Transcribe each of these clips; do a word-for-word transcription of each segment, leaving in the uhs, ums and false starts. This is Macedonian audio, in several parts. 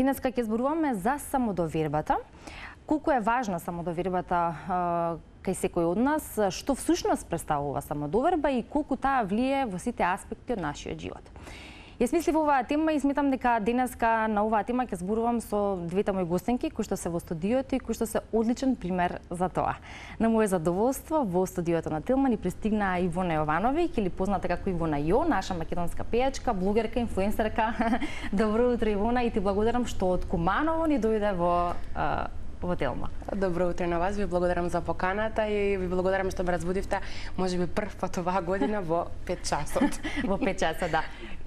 Денеска ќе зборуваме за самодовербата. Колку е важна самодовербата кај секој од нас, што всушност представува самодоверба и колку таа влие во сите аспекти од нашиот живот. Јас мислив оваа тема и сметам дека денеска на оваа тема ќе зборувам со двете мои гостинки кои што се во студиото и кои што се одличен пример за тоа. На моје задоволство во студиото на Тилман и пристигна Ивона Јовановиќ, или позната како Ивона Јо, наша македонска пејачка, блогерка, инфлуенсерка. Добро утро, Ивона, и ти благодарам што од Куманово ни дојде во во Телма. Добро утро на вас, ви благодарам за поканата и ви благодарам што ме разбудивте, можеби прв пат оваа година во пет часот. Во пет часот, да.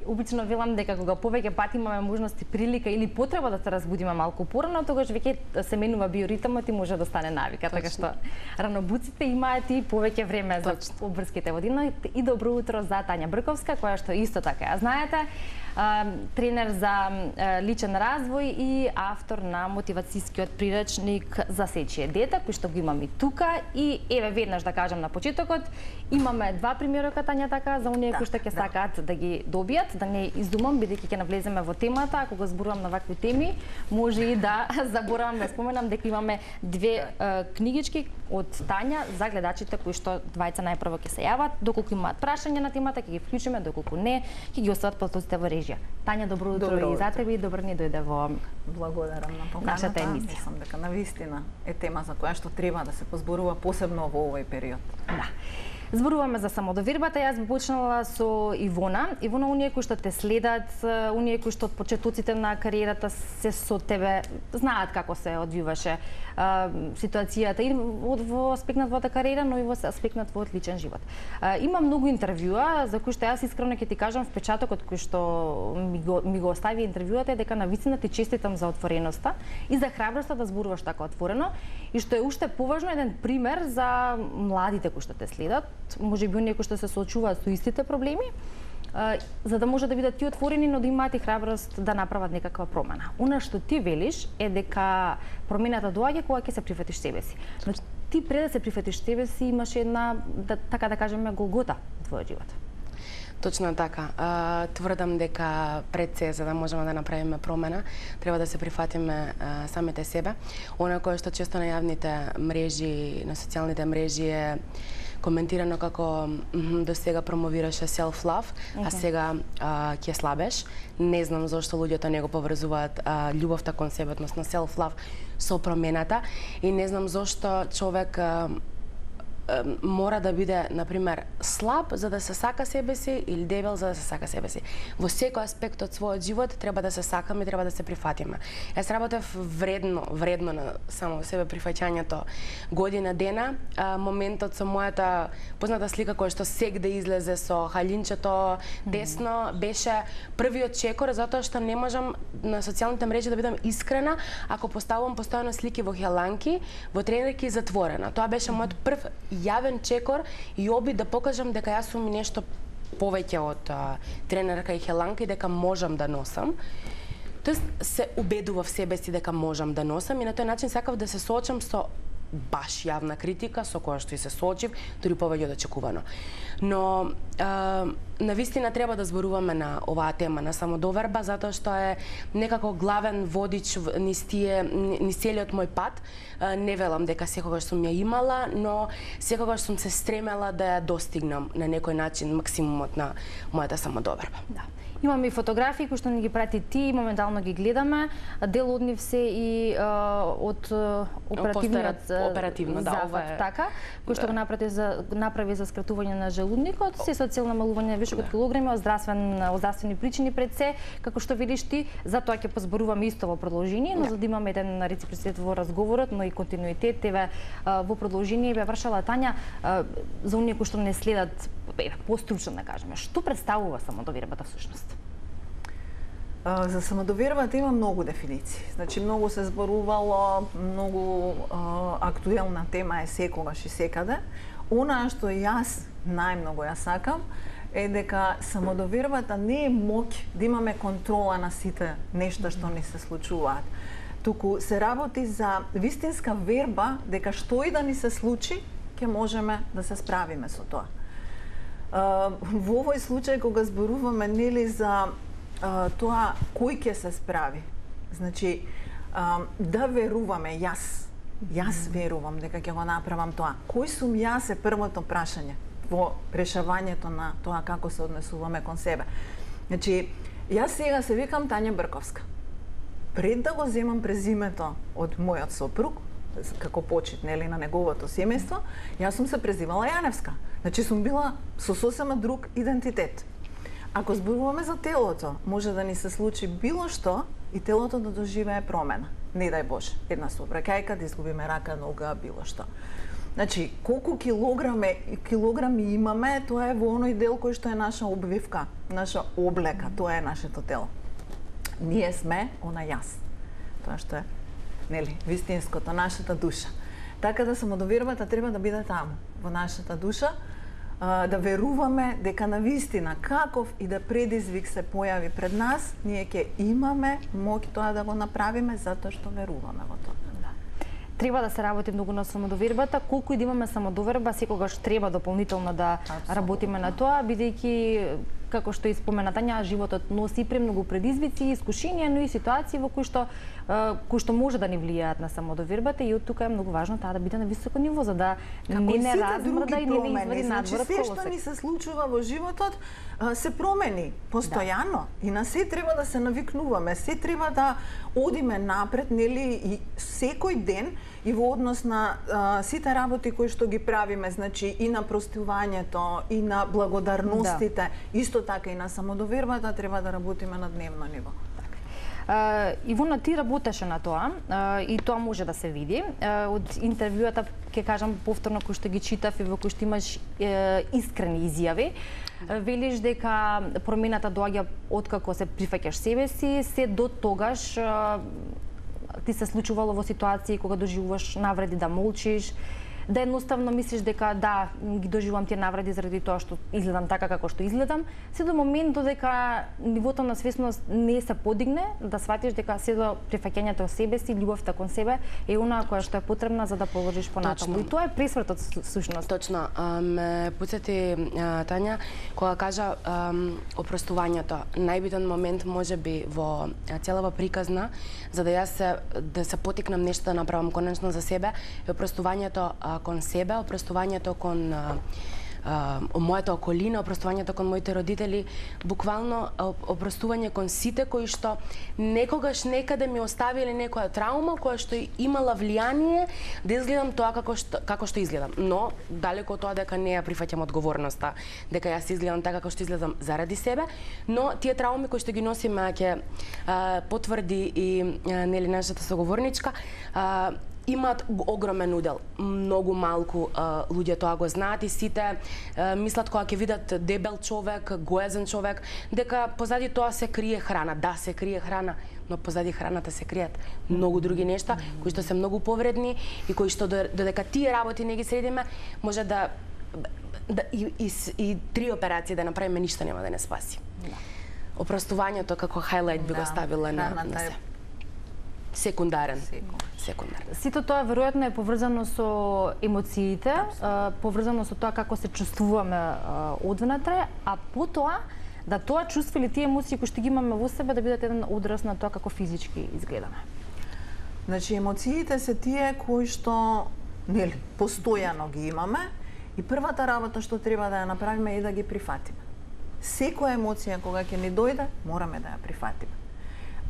Обично велам дека кога повеќе пати имаме можност и прилика или потреба да се разбудиме малку порано, тогаш веќе се менува биоритмот и може да стане навика, така што ранобуците имаат и повеќе време за обврските води. И добро утро за Тања Брковска, која што исто така ја знаете, тренер за личен развој и автор на мотивацијскиот приречник за сечие дете, кој што го имаме и тука. И еве веднаш да кажам на почетокот, имаме два примерока, Тања, така, за оние кои што ќе сакаат да ги добијат, да не издумам, бидејќи ќе навлеземе во темата. Ако го зборувам на вакви теми, може и да заборавам да споменам дека имаме две е, книгички од Тања за гледачите кои што двајца најпрво ќе се јават. Доколку имаат прашања на темата, ќе ги вклучиме, доколку не, ќе ги остават потоците во режија. Тања, добро утро, добро и за тебе и добро ни дојде во благодарам на поканата. Нашата емисија. Мислам дека навистина е тема за која што треба да се позборува посебно во овој период. Да. Зборуваме за самодовербата. Јас би почнала со Ивона. Ивона, оние кои што те следат, оние кои што од почетоците на кариерата се со тебе знаат како се одвиваше а, ситуацијата и во аспект на твојата кариера, но и во аспект на твојот личен живот. А, има многу интервјуа за кои што јас искрено ќе ти кажам впечатокот кој што ми го, ми го остави интервјуата е дека навистина ти честитам за отвореноста и за храброста да зборуваш така отворено, и што е уште поважно еден пример за младите кои што те следат, може би оние кои што се соочуваат со истите проблеми, за да може да бидат ти отворени, но да имаат и храброст да направат некаква промена. Она што ти велиш е дека промената доаѓа кога ќе се прифатиш себе си. Но ти пред да се прифатиш себе си имаш една, да, така да кажеме, голгота во твојот живот. Точно така. А, тврдам дека пред се, за да можеме да направиме промена, треба да се прифатиме а, самите себе. Она кое што често на јавните мрежи, на социјалните мрежи е коментирано како до сега промовираше self-love, okay. а сега а, ќе слабеш. Не знам зошто луѓето не го поврзуваат а, љубовта кон себе, односно self-love со промената, и не знам зошто човек а, мора да биде, например, слаб за да се сака себе си или дебел за да се сака себе си. Во секој аспект од својот живот треба да се сакаме и треба да се прифатиме. Јас работев вредно, вредно на само себе прифаќањето година дена. А, моментот со мојата позната слика која што сегде излезе со халинчето десно беше првиот чекор, затоа што не можам на социјалните мрежи да бидам искрена ако поставувам постојано слики во хеланки, во тренерки затворена. Тоа беше мојот прв јавен чекор и обид да покажам дека јас сум нешто повеќе од а, тренерка и хеланка и дека можам да носам. Тоест се убедував себе си дека можам да носам и на тој начин сакав да се соочам со баш јавна критика со која што и се соочив, дури повеќе од очекувано. Но а, навистина треба да зборуваме на оваа тема на самодоверба, затоа што е некако главен водич низ тие низ целиот мој пат. А, не велам дека секогаш сум ја имала, но секогаш сум се стремела да ја достигнам на некој начин максимумот на мојата самодоверба. Да. Имаме и фотографии кои што ни ги прати ти, моментално ги гледаме. Дел од нив се и а, од оперативниот оперативно, да, зафат, ова е... така, кој што го направи за направи за скратување на желудникот, се со цел намалување вишокот килограми, од здравствен од здравствени причини пред се, како што видиш ти, затоа ќе позборуваме исто во продолжение, но за да имаме еден реципроцитет во разговорот, но и континуитет, еве во продолжение бе вршала Тања за оние кои што не следат постручно да кажеме. Што представува самодовербата всушност? За самодовербата има многу дефиниции. Значи, многу се зборувало, многу а, актуелна тема е секогаш и секаде. Она што јас најмногу ја сакам е дека самодовербата не е моќ да имаме контрола на сите нешта што ни се случуваат. Туку се работи за вистинска верба дека што и да ни се случи, ќе можеме да се справиме со тоа. А, во овој случај кога зборуваме нели за Uh, тоа кој ќе се справи. Значи, а, да веруваме, јас, јас верувам дека ќе го направам тоа. Кој сум јас е првото прашање во решавањето на тоа како се однесуваме кон себе. Значи, јас сега се викам Тања Брковска. Пред да го земам презимето од мојот сопруг, како почит, нели, на неговото семејство, јас сум се презивала Јаневска. Значи сум била со сосема друг идентитет. Ако зборуваме за телото, може да ни се случи било што и телото да доживее промена. Не дај Боже, една сообраќајка, да изгубиме рака, нога, било што. Значи, колку килограми, килограми имаме, тоа е во оној дел кој што е наша обвивка, наша облека, тоа е нашето тело. Ние сме она јас. Тоа што е, нели, вистинското, нашата душа. Така да самодовербата треба да биде таму, во нашата душа, да веруваме дека на вистина каков и да предизвик се појави пред нас, ние ќе имаме моќ тоа да го направиме затоа што веруваме во тоа. Треба да се работи многу на самодовербата, колку и да имаме самодоверба, секогаш треба дополнително да Абсолютно. Работиме на тоа, бидејќи како што и спомена Тања, животот носи премногу предизвици, искушенија, но и ситуации во кои што кои што може да ни влијаат на самодовербата, и од тука е многу важно таа да биде на високо ниво за да не не размрда и не не извади надвор од колосек. Се што ни се случува во животот се промени постојано да. И на се треба да се навикнуваме, се треба да одиме напред, нели, и секој ден и во однос на а, сите работи кои што ги правиме, значи и на простувањето, и на благодарностите, да. Исто така и на самодовербата треба да работиме на дневно ниво. Uh, Ивона, ти работеше на тоа uh, и тоа може да се види. Uh, од интервјуата, ќе кажам повторно, кои што ги читав и во кои што имаш uh, искрени изјави, uh, велиш дека промената доаѓа откако се прифаќаш себе си, се до тогаш uh, ти се случувало во ситуации кога доживуваш навреди да молчиш, да едноставно мислиш дека да, ги доживувам тие навреди заради тоа што изгледам така како што изгледам, се до момент додека нивото на свесност не се подигне, да сватиш дека се до прифаќањето себе си, љубовта кон себе е онаа која што е потребна за да положиш понатаму. И тоа е пресвртот сушност. Точно. Ме потсети Тања кога кажа ам, опростувањето. Најбитен момент можеби во целава приказна за да јас се, да се потикнам нешто да направам конечно за себе, е опростувањето кон себе, опростувањето кон а, а, мојата околина, опростувањето кон моите родители, буквално опростување кон сите кои што некогаш некаде ми оставиле некоја траума која што имала влијание да изгледам тоа како што како што изгледам. Но далеко од тоа дека не ја прифаќам одговорноста, дека јас изгледам така како што изгледам заради себе, но тие трауми кои што ги носиме ќе потврди и а, нели нашата соговорничка, а, имаат огромен удел. Многу малку а, луѓе тоа го знаат и сите а, мислат кога ќе видат дебел човек, гоезен човек, дека позади тоа се крие храна. Да, се крие храна, но позади храната се кријат многу други нешта кои што се многу повредни и кои што додека тие работи не ги средиме, може да, да и, и, и три операции да направиме, ништо нема да не спаси. Да. Опростувањето како хайлайт би да. Го ставила на, на се. Секундарен. Секундарен. Сите тоа веројатно е поврзано со емоциите, а, поврзано со тоа како се чувствуваме а, одвнатре, а потоа да тоа чувство или тие емоции кои што ги имаме во себе да бидат еден одраз на тоа како физички изгледаме. Значи емоциите се тие кои што нели постојано ги имаме и првата работа што треба да ја направиме е да ги прифатиме. Секоја емоција кога ќе ни дојде, мораме да ја прифатиме.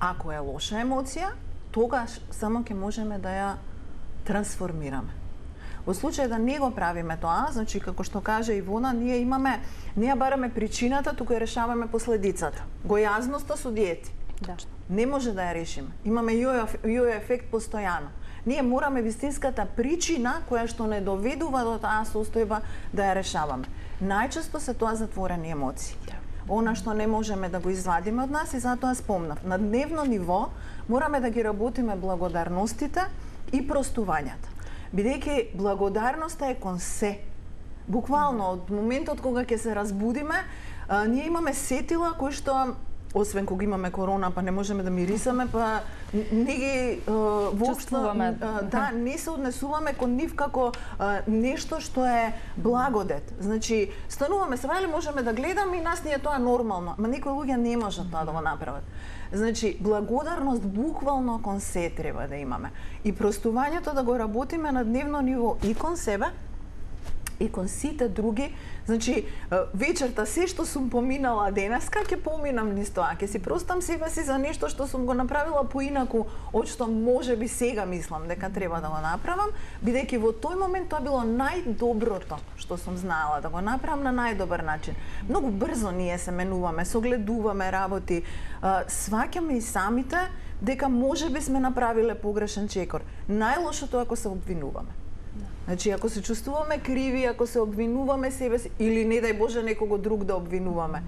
Ако е лоша емоција, тогаш само ќе можеме да ја трансформираме. Во случај да не го правиме тоа, значи како што кажа Ивона, ние имаме, не ја бараме причината, туку ја решаваме последицата. Гојазноста со диети. Да. Не може да ја решиме. Имаме јојо ефект постојано. Ние мораме вистинската причина која што не доведува до таа состојба да ја решаваме. Најчесто се тоа затворени емоции. Да. Она што не можеме да го извадиме од нас и затоа спомнав. На дневно ниво мораме да ги работиме благодарностите и простувањата. Бидејќи благодарноста е кон се. Буквално од моментот кога ќе се разбудиме, а, ние имаме сетила кои што освен кога имаме корона, па не можеме да мирисаме, па не ги воопшто да не се однесуваме кон нив како а, нешто што е благодет. Значи, стануваме се вали, можеме да гледаме и нас ни е тоа нормално, ама некои луѓе не можат тоа да го направат. Значи, благодарност буквално кон се треба да имаме. И простувањето да го работиме на дневно ниво и кон себе, и кон сите други. Значи, вечерта се што сум поминала денеска, ќе поминам низ тоа. Ќе си простам себе си за нешто што сум го направила поинаку, од што може би сега мислам дека треба да го направам, бидејќи во тој момент тоа било најдоброто што сум знаела да го направам на најдобар начин. Многу брзо ние се менуваме, согледуваме работи, сваќаме и самите дека може би сме направиле погрешен чекор. Најлошото е ако се обвинуваме. Значи, ако се чувствуваме криви, ако се обвинуваме себе си, или не дај Боже некого друг да обвинуваме,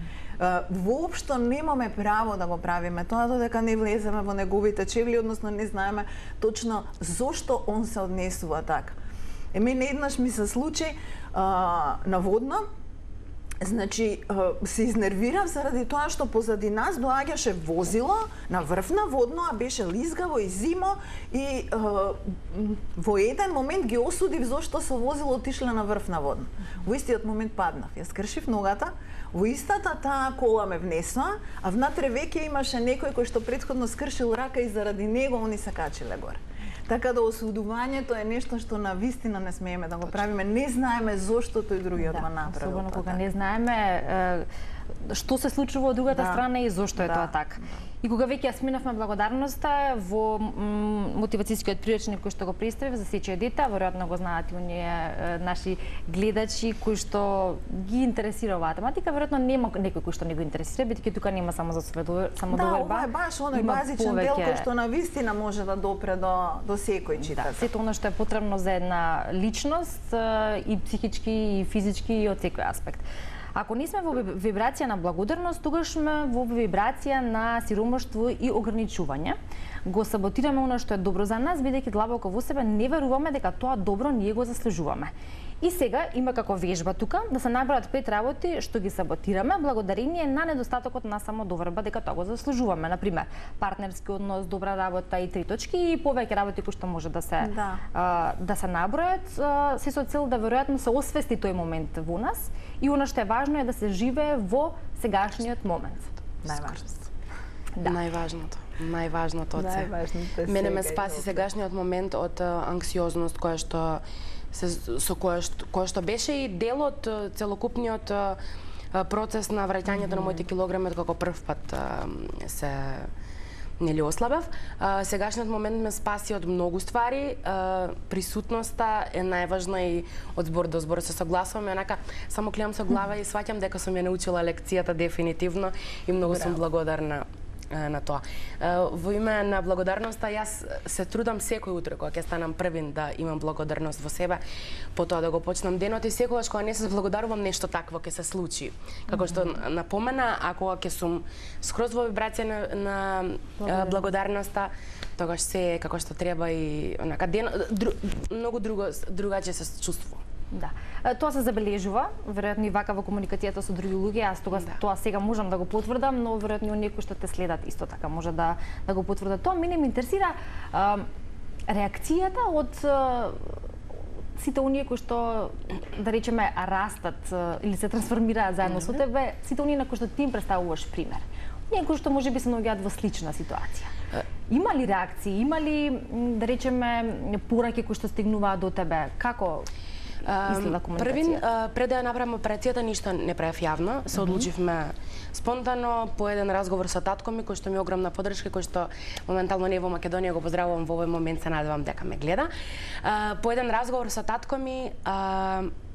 воопшто немаме право да го правиме тоа додека не влеземе во неговите чевли, односно не знаеме точно зошто он се однесува така. Е, мене еднаш ми се случи а, наводно. Значи, се изнервирав заради тоа што позади нас доаѓаше возило на врв на водно, а беше лизгаво и зимо и е, во еден момент ги осудив зошто со возило отишле на врв на водно. Во истиот момент паднав, ја скршив ногата, во истата таа кола ме внесоа, а внатре веќе имаше некој кој што претходно скршил рака и заради него они се качиле горе. Така да осудувањето е нешто што на вистина не смееме да го правиме. Не знаеме зошто тој другиот го направил. Особено кога не знаеме што се случува од другата да. страна и зошто е да. тоа така. И кога веќе ја сминавме благодарноста во мотивацијскиот приречник кој што го представив за сечие дете, веројатно го знаат и оние наши гледачи кои што ги интересира оваа тематика, веројатно нема некој кој што не го интересира, бидејќи тука нема само за самодоверба. Да, ова е баш оној базичен повеќе... дел кој што на вистина може да допре до до секој читач. Да, сето она што е потребно за една личност и психички и физички и од секој аспект. Ако не сме во вибрација на благодарност, тогаш сме во вибрација на сиромаштво и ограничување. Го саботираме она што е добро за нас, бидејќи длабоко во себе не веруваме дека тоа добро ние го заслужуваме. И сега има како вежба тука да се набројат пет работи што ги саботираме благодарение на недостатокот на самодоверба дека тоа го заслужуваме. Например, партнерски однос, добра работа и три точки и повеќе работи кои што може да се да, а, да се набројат, а, се со цел да веројатно се освести тој момент во нас и она што е важно е да се живее во сегашниот момент. Најважното. Да. Најважното. Најважното од се. Мене ме спаси сегашниот момент од анксиозност која што се, со која што, која што беше и дел од целокупниот процес на враќањето mm-hmm. на моите килограми од како прв пат се нели ослабев. Сегашниот момент ме спаси од многу ствари. Присутноста е најважна и од збор до збор се согласувам, онака само клемам со глава и сваќам дека сум ја научила лекцијата дефинитивно и многу Браво. сум благодарна на тоа. Во име на благодарноста јас се трудам секој утро кога ќе станам првин да имам благодарност во себе, потоа да го почнам денот и секогаш кога не се благодарувам нешто такво ќе се случи. Како што напомена, а кога ќе сум скроз во вибрација на, на благодарноста, тогаш се е како што треба и онака ден дру, многу друго другаче се чувствувам. Да. Тоа се забележува, веројатно и вака во комуникацијата со други луѓе, јас тога да. тоа сега можам да го потврдам, но веројатно и некои што те следат исто така може да да го потврдат тоа. Мене ме интересира а, реакцијата од а, сите оние кои што да речеме растат а, или се трансформираат заедно mm-hmm. со тебе, сите оние на кои што ти им представуваш пример. Оние кои што можеби се наоѓаат во слична ситуација. Има ли реакции, има ли да речеме пораки кои што стигнуваат до тебе? Како Првин, пред да ја направам операцијата, ништо не правев јавно. Се одлучивме спонтано по еден разговор со татко ми, кој што ми е огромна поддршка, кој што моментално не е во Македонија, го поздравувам во овој момент, се надевам дека ме гледа. По еден разговор со татко ми,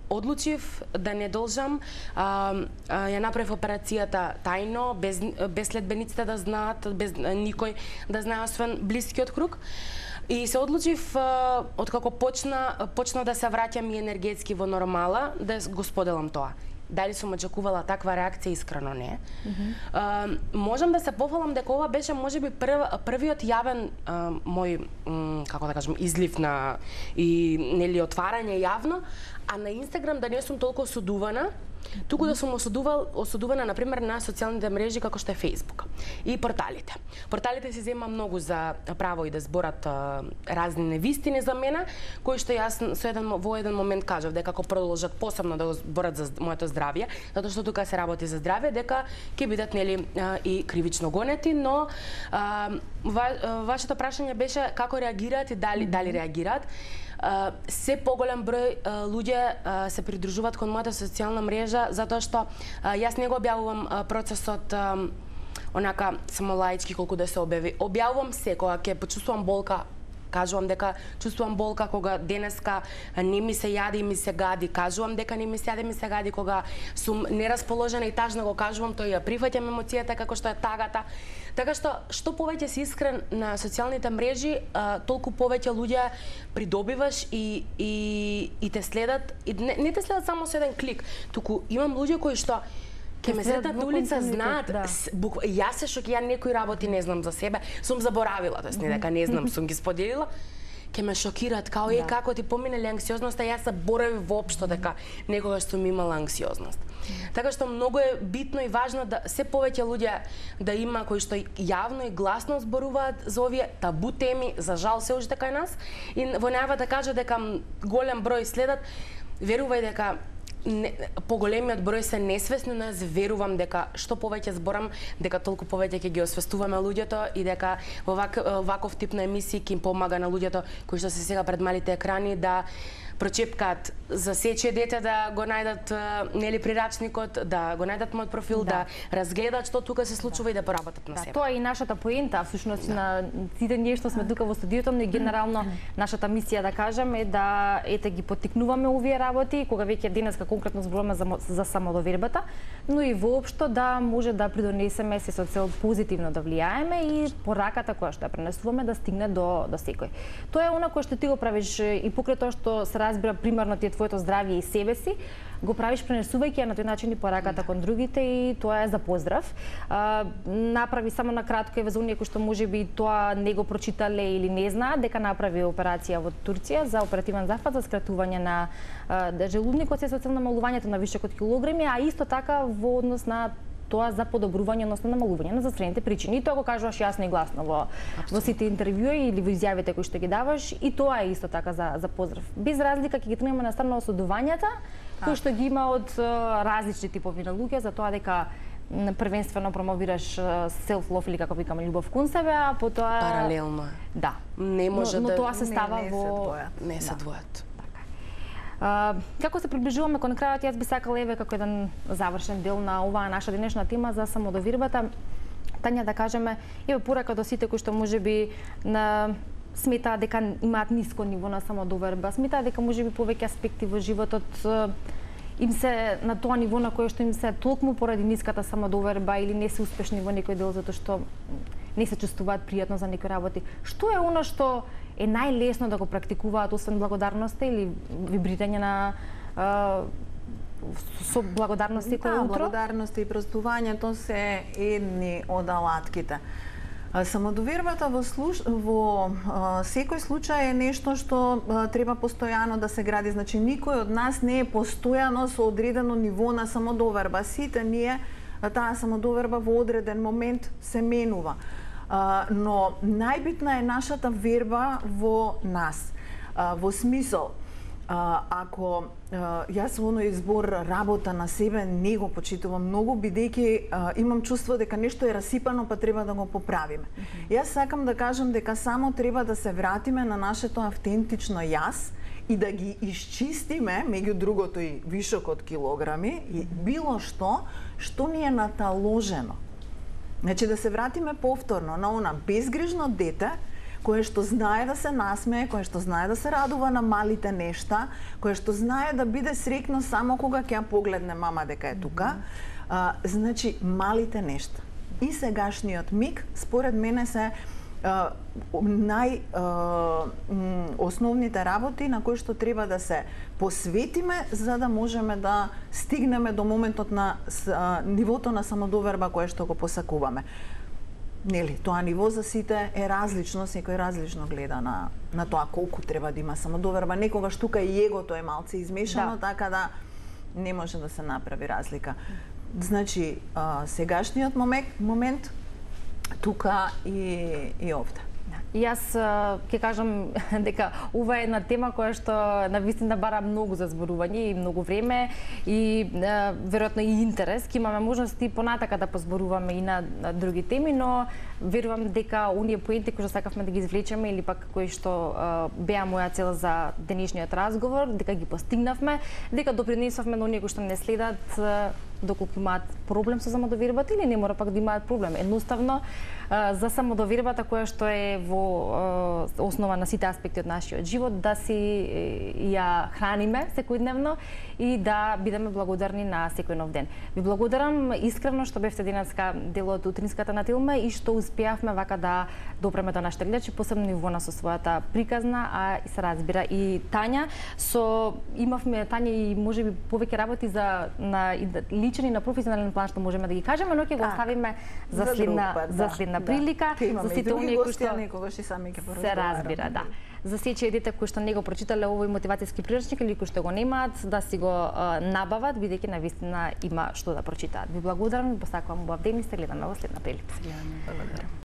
одлучив да не должам, а, а, ја направив операцијата тајно, без, без следбениците да знаат, без никој да знае освен блискиот круг. И се одлучив, откако почна, почна да се враќам и енергетски во нормала, да го споделам тоа. Дали сум очекувала таква реакција, искрено не. Mm-hmm. А, можам да се пофалам дека ова беше можеби прв, првиот јавен а, мој, м, како да кажем, излив на и нели отварање јавно, а на Инстаграм да не сум толку осудувана туку да сум осудувал, осудувана, например, на социјалните мрежи како што е Facebook и порталите. Порталите се зема многу за право и да зборат а, разни невистини за мене, кои што јас со еден, во еден момент кажав дека ако продолжат посебно да го зборат за моето здравје, затоа што тука се работи за здравје, дека ќе бидат нели а, и кривично гонети, но а, ва, вашето прашање беше како реагираат и дали дали реагираат. Uh, се поголем број uh, луѓе uh, се придружуваат кон мојата социјална мрежа затоа што uh, јас не го објавувам uh, процесот um, онака само лаички колку да се објави. Објавувам се кога ќе почувствувам болка, кажувам дека чувствувам болка кога денеска не ми се јади и ми се гади, кажувам дека не ми се јади и ми се гади, кога сум нерасположена и тажна го кажувам, тој ја прифаќам емоцијата како што е тагата. Така што што повеќе си искрен на социјалните мрежи, а, толку повеќе луѓе придобиваш и и и те следат, и не, не те следат само со еден клик, туку имам луѓе кои што ќе ме сретат на улица, знаат, да. Бук, јас се шокирам, некои работи не знам за себе, сум заборавила, тоест не дека не знам, сум ги споделила, ќе ме шокираат, као е, да. Како ти поминали анксиозноста, јас заборавив воопшто дека некогаш сум имала анксиозност. Така што многу е битно и важно да се повеќе луѓе да има кои што јавно и гласно зборуваат за овие табу теми, за жал се уште кај нас, и во најава да кажа дека голем број следат, верувај дека не, поголемиот број се несвесни, но јас верувам дека што повеќе зборам, дека толку повеќе ќе ги освестуваме луѓето и дека во вак, ваков тип на емисии ќе им помага на луѓето кои што се сега пред малите екрани да прочепкаат за сечие дете, да го најдат нели прирачникот, да го најдат мојот профил, да, да разгледат што тука се случува, да, и да поработат на да, себе. Тоа е и нашата поента, всушност, да, на сите ние што сме тука во студиото, но и генерално нашата мисија, да кажам, е да ете ги поттикнуваме овие работи, кога веќе денеска конкретно зборуваме за, за самодовербата, но и воопшто да може да придонесеме се со цел позитивно да влијаеме и пораката која што ја пренесуваме да стигне до до секој. Тоа е она кое што ти го правиш и покрај тоа што се разбира примерно ти е твоето здравје и себе си, го правиш пренесувајќи ја на тој начин и пораката кон другите, и тоа е за поздрав. А, направи само на кратко е за оние кои што можеби тоа не го прочитале или не знаат дека направи операција во Турција за оперативен зафат за скратување на а, желудникот се со цел намалувањето на вишок од килограми, а исто така во однос на тоа за подобрување, односно намалување на застрените причини. И тоа го кажуваш јасно и гласно во, во сите интервјуи или во изјавите кои што ги даваш, и тоа е исто така за, за поздрав. Без разлика ќе ги тргнеме на страна осудувањата, кои што ги има од различни типови на луѓе, за тоа дека првенствено промовираш self-love или како викаме љубов кон себе, а потоа паралелно. Да. Не може но, да но тоа се става не, не во се двојат. Не се да. двојат. Uh, како се приближуваме кон крајот, јас би сакала еве како еден завршен дел на оваа наша денешна тема за самодовербата, Тања, да кажеме, еве порака до сите кои што можеби на сметаат дека имаат ниско ниво на самодоверба, сметаат дека можеби повеќе аспекти во животот им се на тоа ниво на кое што им се толкму поради ниската самодоверба или не се успешни во некој дел затоа што не се чувствуваат пријатно за некои работи. Што е она што е најлесно да го практикуваат освен благодарноста или вибрирање на а, со благодарност секој да, утро? Благодарност и простувањето се едни од алатките. Самодовербата во, слуш... во а, секој случај е нешто што а, треба постојано да се гради. Значи, никој од нас не е постојано со одредено ниво на самодоверба. Сите ние таа самодоверба во одреден момент се менува. А, но најбитна е нашата верба во нас. А, во смисол, а, ако а, јас во оној збор работа на себе не го почитувам многу, бидејќи а, имам чувство дека нешто е расипано, па треба да го поправиме. Mm-hmm. Јас сакам да кажам дека само треба да се вратиме на нашето автентично јас и да ги исчистиме, меѓу другото и вишок од килограми, и било што што ни е наталожено. Значи да се вратиме повторно на она безгрижно дете кое што знае да се насмее, кое што знае да се радува на малите нешта, кое што знае да биде среќно само кога ќе ја погледне мама дека е тука. А, значи малите нешта. И сегашниот миг според мене се Uh, нај uh, основните работи на кои што треба да се посветиме за да можеме да стигнеме до моментот на uh, нивото на самодоверба кое што го посакуваме. Нели, тоа ниво за сите е различно, секој различно гледа на на тоа колку треба да има самодоверба. Некогаш тука и егото е малце измешано, да. Така да не може да се направи разлика. Значи, а, сегашниот момент, момент тука и, и овде. И јас ќе кажам дека ова е една тема која што навистина бара многу за зборување и многу време и веројатно и интерес. Ќе имаме можности понатака да позборуваме и на други теми, но верувам дека оние поенти кои што сакавме да ги извлечеме или пак кои што беа моја цел за денешниот разговор, дека ги постигнавме, дека допринесовме на оние кои што не следат доколку имаат проблем со самодовербата или не мора пак да имаат проблем. Едноставно, за самодовербата која што е во основа на сите аспекти од нашиот живот, да си ја храниме секојдневно и да бидеме благодарни на секој нов ден. Ви благодарам искрено што бевте денеска дел од утринската на Телма и што успеавме вака да допреме до нашите гледачи, посебно и Вона со својата приказна, а и се разбира и Тања. Со имавме Тања и можеби повеќе работи за на личен и на професионален план што можеме да ги кажеме, но ќе го оставиме за следна група, за следна да, прилика, да. за сите оние кои што некогаш и сами ќе се разбира, да. За сечие дете кои што не го прочитале овој мотивацијски приручник или кои што го немаат, да си го а, набават, бидејќи навистина има што да прочитаат. Ви благодарам, ви посакувам убав ден и се гледаме во следна прилика. Благодарам.